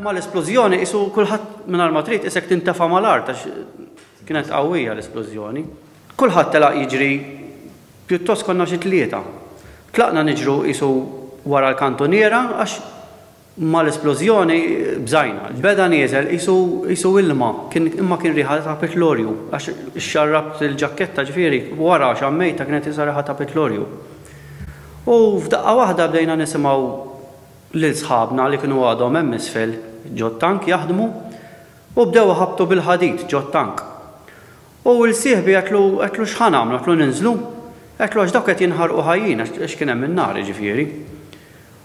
Mal-isplużjoni qisu kulħadd mingħajr ma trid qisek tintefa' mal-art għax kienet qawwija l-isplużjoni. Kulħadd telaq jiġri pjuttost konna xi tlieta. Tlaqna niġru qisu wara l-kantuniera għax mal-isplużjoni bżajna. Beda nieżel qisu qisu ilma, kien imma kien riħa ta' pitlorju għax xxarrabt il-ġakketta ġifieri wara xammejtha kienet qisha riħa ta' pitlorju. U f'daqqa waħda bdejna nisimgħu lil sħabna li kienu għadhom hemm isfel ġot-tank jaħdmu u bdew iħabbtu bil-ħadid ġot-tank. U 'l sieħbi għedtlu, għedtlu x'ħa nagħmlu, għedtlu ninżlu? Għedtlu għax dawk qed jinħarqu ħajjin għax kien hemm in-nar jiġifieri.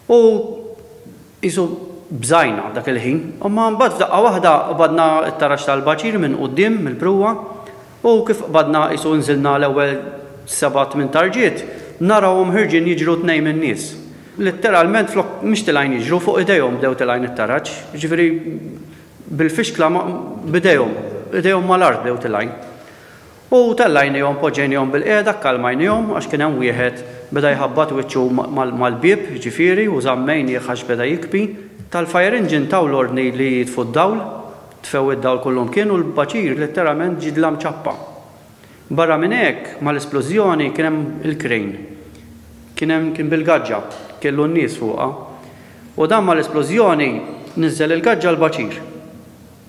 U qisu bżajna dak il-ħin. Imma mbagħad f'daqqa waħda qbadna t-taraġ tal-baċir minn quddiem, mill-pruwa, u kif qbadna qisu nżilna l-ewwel seba' tmien tarġiet, narawhom ħirġin jiġru tnejn min-nies. Litteralment flok mhux tilgħin jiġru, fuq idejhom bdew tilgħin it-taraġ. Jiġifieri bil-fixkla b'idejhom, idejhom mal-art bdew tilgħin. U tellajnihom, poġġejnihom bilqiegħda, kkalmajnihom għax kien hemm wieħed beda jħabbat wiċċu mal-bieb, jiġifieri, u żammejnih għax beda jikbi. Tal-fire engine taw l-ordni li jitfu d-dawl, tfew id-dawl kullumkien u l-baċir litteralment ġie dlam ċappa. Barra minn hekk, mal-isplużjoni kien hemm il-crane. Kien hemm kien bil-gaġġa, kellu n-nies fuqha. U dan mal-isplużjoni niżżel il-gaġġa l-baċir.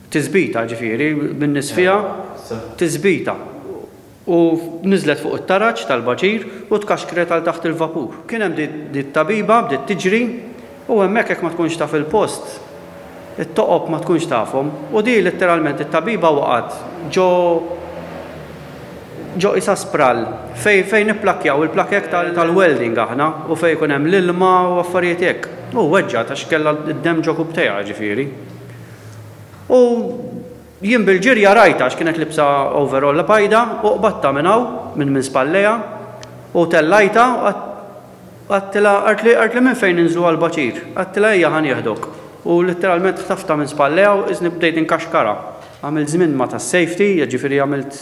Tisbita, ġifieri, bin-nies fiha, tisbita. U niżlet fuq it-taraġ tal-baċir u tkaxkret għal taħt il-vapur. Kien hemm di t-tabiba bdiet tiġri u hemmhekk jekk ma tkunx taf il-post, it-toqob ma tkunx tafhom. U di letteralment it-tabiba waqgħet ġo ġo qisha sprall fejn fejn nipplakkjaw il-plakek tal-welding aħna u fejn ikun hemm l-ilma u affarijiet hekk. U weġġgħet għax kellha d-demm ġo kubbtejha ġifieri. U jien bil-ġirja rajtha għax kienet libsa overall bajda u qbadtha minn hawn, minn minn spallejha u tellajtha u għedtilha qaltli qaltli minn fejn ninżlu għall-baċir? Għedtilha ejja ħa nieħdok. U litteralment ħtaftha minn spallejha u qisni bdejt inkaxkarha. Għamilt żmien ma' tas-safety, jiġifieri għamilt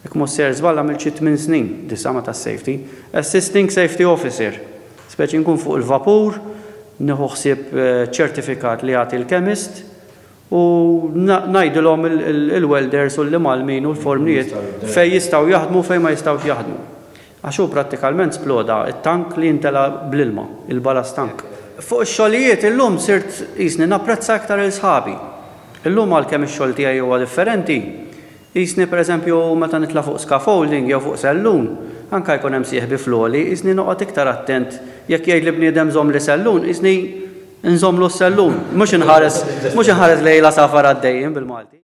jekk mhux sejjer żball għamilt xi tmien snin, disa' ma' tas-safety. Assisting Safety Officer. Speċi nkun fuq il-vapur, nieħu ħsieb ċertifikat li jagħti l-chemist u ngħidilhom il-welders u l-imgħallmin u l-fornijiet fejn jistgħu jaħdmu u fejn ma jistgħux jaħdmu. Għax hu prattikalment sploda t-tank li jimtela bl-ilma, il-ballast tank. Fuq ix-xogħlijiet illum sirt qisni napprezza iktar 'il sħabi. Illum għalkemm ix-xogħol tiegħi huwa differenti, qisni pereżempju meta nitla' fuq scaffolding jew fuq sellun, anke jkun hemm sieħbi fl-għoli, qisni noqgħod iktar attent jekk jgħidli bniedem żommli sellun, qisni nżommlu s-sellun, mhux inħares mhux inħares lejn l-għasafar għaddejjin bil-Malti.